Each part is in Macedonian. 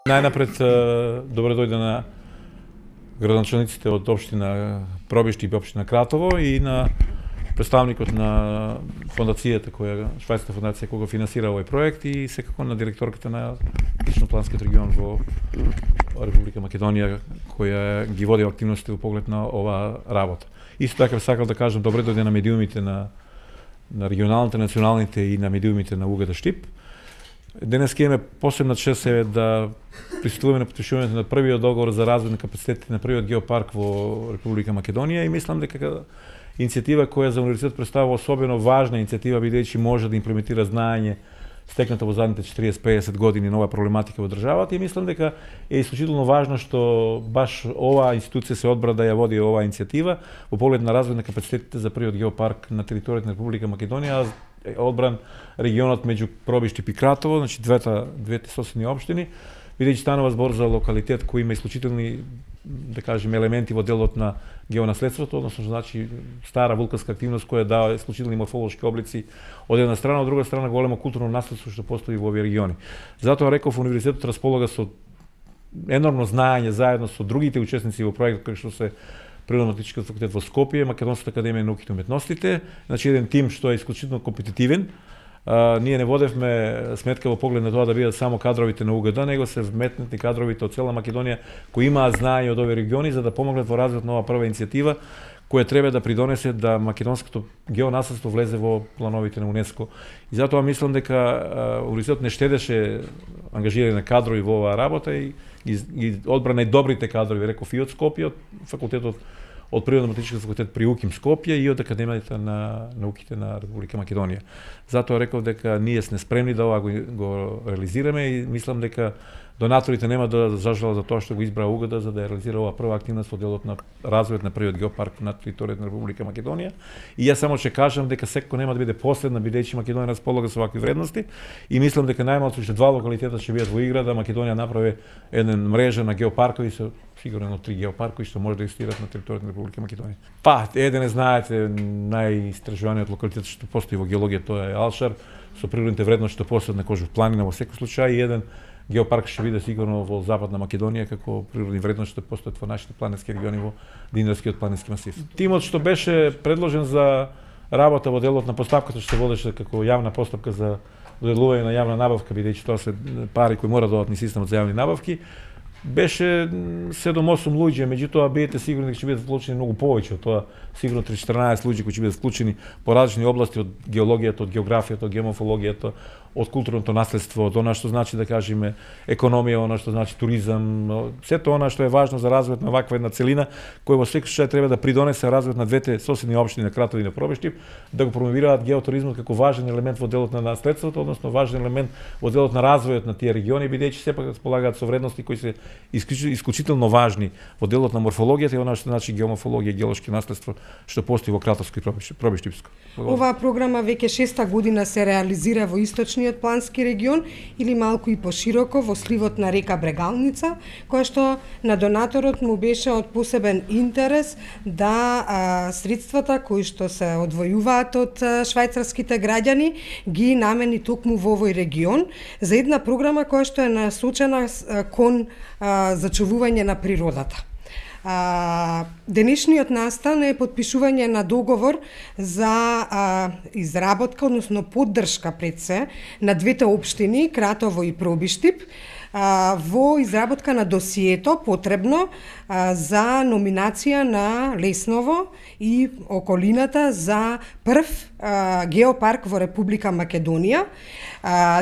Најнапред, добре дојде на градоначалниците од општина Пробиштип и општина Кратово и на представникот на фондацијата швајцарска фондација која го финансира овој проект и секако на директорката на Ично-планскиот регион во Република Македонија која ги води активности во поглед на оваа работа. Исто така сакам да кажам добре дојде на медиумите на регионалните, националните и на медиумите на УГД Штип. Денес ќе имаме посебна чест да пристигуваме на потпишувањето на првиот договор за развој на капацитетите на првиот геопарк во Република Македонија и мислам дека иницијатива која за универзитет представува особено важна иницијатива бидејќи може да имплементира знаење стекнато во задните 40-50 години на оваа проблематика во државата и мислам дека е исклучително важно што баш оваа институција се одбра да ја води оваа иницијатива во поглед на развој на капацитетите за првиот геопарк на територијата на Република Македонија, одбран регионот меѓу Пробиштип и Кратово, значи двете соседни општини, бидејќи станува збор за локалитет кој има исклучителни, да кажеме, елементи во делот на геонаследството, односно значи стара вулканска активност која дава исклучителни морфолошки облици од една страна, од друга страна големо културно наследство што постои во овие региони. Затоа реков универзитетот располага со енормно знаење заедно со другите учесници во проектот кои што се Природно-математичкиот факултет во Скопје, Македонската академија на науките и уметностите, значи еден тим што е исклучително компетитивен. Ние не водевме сметка во поглед на тоа да бидат само кадровите на УГД, него се вметнати кадровите од цела Македонија кои имаат знаење од овие региони за да помогнат во развојот на оваа прва иницијатива која треба да придонесе да македонското геонаследство влезе во плановите на УНЕСКО. И затоа мислам дека универзитетот не штедеше ангажирање на кадрови во оваа работа и одбра најдобрите кадрови, реков и од Скопје, од факултетот од Природно-математичкиот факултет при УКИМ Скопје и од Академијата на науките на Република Македонија. Затоа реков дека ние сме спремни да ова го реализираме и мислам дека донаторите нема да зажалат за тоа што го избра УГД за да ја реализира оваа прва активност во делот на развојот на првиот геопарк на територијата на Република Македонија. И јас само ќе кажам дека секој нема да биде последна бидејќи Македонија располага со вакви вредности и мислам дека најмалку уште два локалитета ќе бидат во игра да Македонија направи една мрежа на геопаркови со сигурно 3 геопаркови што може да екзистираат на територијата на Република Македонија. Еден знаете најистражуваниот локалитет што постои во геологија тоа е Алшар со природните вредности што постојат на Кожув планина во секој случај и еден геопарк ќе биде сигурно во западна Македонија како природни вредности што постојат во нашите планински региони во Динарскиот планински масив. Тимот што беше предложен за работа во делот на поставката што се водеше како јавна постапка за доделување на јавна набавка бидејќи тоа се пари кои мора да одат низ системот за јавни набавки, беше 7-8 луѓе, меѓутоа бидете сигурни дека ќе бидат вклучени многу повеќе од тоа, сигурно 3-14 луѓе кои ќе бидат вклучени по различни области од геологијата, од географијата, од геоморфологијата, од културното наследство, од она што значи да кажеме економија, она што значи туризам, сето она што е важно за развојот на ваква една целина која во секој случај треба да придонесе развојот на двете соседни општини на Кратово и на Пробиштип, да го промовираат геотуризмот како важен елемент во делот на наследството, односно важен елемент во делот на развојот на тие региони, бидејќи сепак располагаат со вредности кои се исклучително важни во делот на морфологијата и она што значи геоморфологија, геолошки наследство што постои во Кратовско и Пробиштипско. Оваа програма веќе 6-та година се реализира во источниот плански регион или малку и пошироко во сливот на река Брегалница, која што на донаторот му беше од посебен интерес да средствата кои што се одвојуваат од швајцарските граѓани ги намени токму во овој регион за една програма која што е насочена кон зачувување на природата. Денешниот настан е потпишување на договор за изработка, односно поддршка пред се на двете општини Кратово и Пробиштип во изработка на досието потребно за номинација на Лесново и околината за прв геопарк во Република Македонија.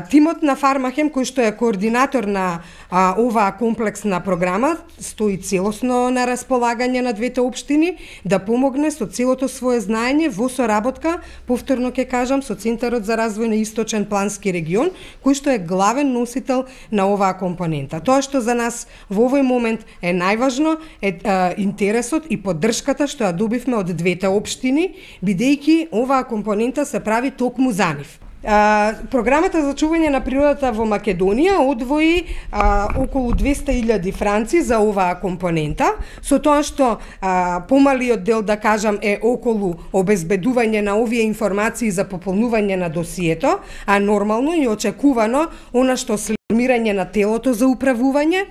Тимот на Фармахем, кој што е координатор на оваа комплексна програма, стои целосно на располагање на двете општини да помогне со целото свое знаење во соработка, повторно ќе кажам, со Центарот за развој на Источен плански регион, кој што е главен носител на оваа компонента. Тоа што за нас во овој момент е најважно е интересот и поддршката што ја добивме од двете општини, бидејќи оваа компонента се прави токму за нив. Програмата за чување на природата во Македонија одвои околу 200.000 франци за оваа компонента, со тоа што помалиот дел, да кажам, е околу обезбедување на овие информации за пополнување на досието, а нормално и очекувано она што формирање на телото за управување,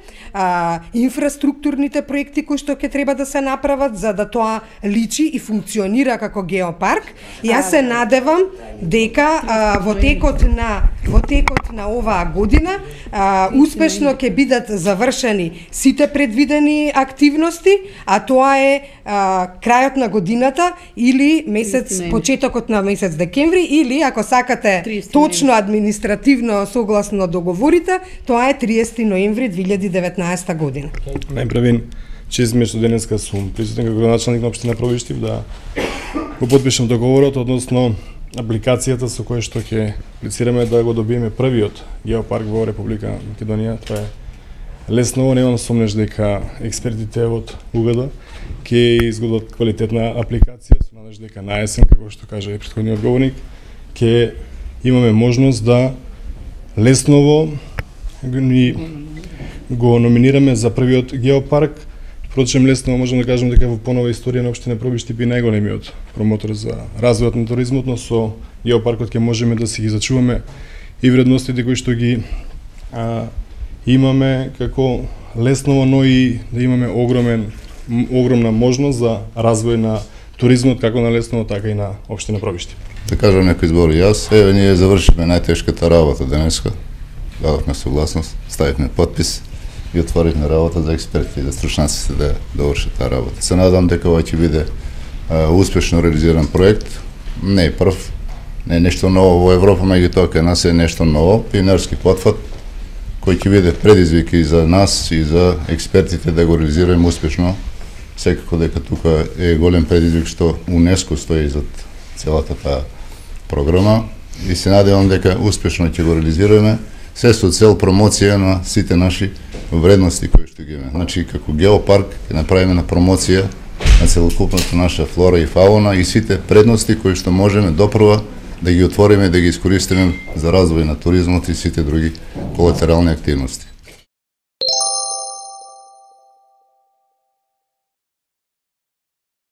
инфраструктурните проекти кои што ќе треба да се направат за да тоа личи и функционира како геопарк. Јас се надевам дека во текот на оваа година успешно ќе бидат завршени сите предвидени активности, а тоа е крајот на годината или почетокот на месец декември, или ако сакате точно административно согласно договорите, тоа е 30 ноември 2019 година. Најпрвин, чест ми што денеска сум присутен како градоначалник на општина Пробиштип да го потпишам договорот односно апликацијата со која што ќе аплицираме да го добиеме првиот геопарк во Република Македонија. Тоа е лесново, немам сомнеш дека експертите од УГД ќе изготват квалитетна апликација, со надеж дека на есен, како што кажа и претходниот говорник, ќе имаме можност да лесново го номинираме за првиот геопарк. Впрочем, лесно можеме да кажеме дека во понова историја на општина Пробиштип и најголемиот промотор за развојот на туризмот, но со геопаркот ќе можеме да си ги зачуваме и вредностите кои што ги имаме како лесново, но и да имаме огромна можност за развој на туризмот како на Лесново, така и на општина Пробиштип. Да кажам некои збори јас, ние завршивме најтешката работа денеска. Дадовме согласност, ставивме подпис и отворивме работа за експертите и за стручнаците да довршат таа работа. Се надам дека ова ќе биде успешно реализиран проект. Не е прв, не е нешто ново во Европа, меѓутоа кај нас е нешто ново, пионерски потфат, кој ќе биде предизвик и за нас и за експертите да го реализираме успешно. Секако дека тука е голем предизвик што УНЕСКО стои зад целата таа програма и се надевам дека успешно ќе го реализираме, се со цел промоција на сите наши вредности кои што ги имаме. Значи, како геопарк ќе направиме на промоција на целокупната наша флора и фауна и сите предности кои што можеме допрва да ги отвориме, да ги искористиме за развој на туризмот и сите други колатерални активности.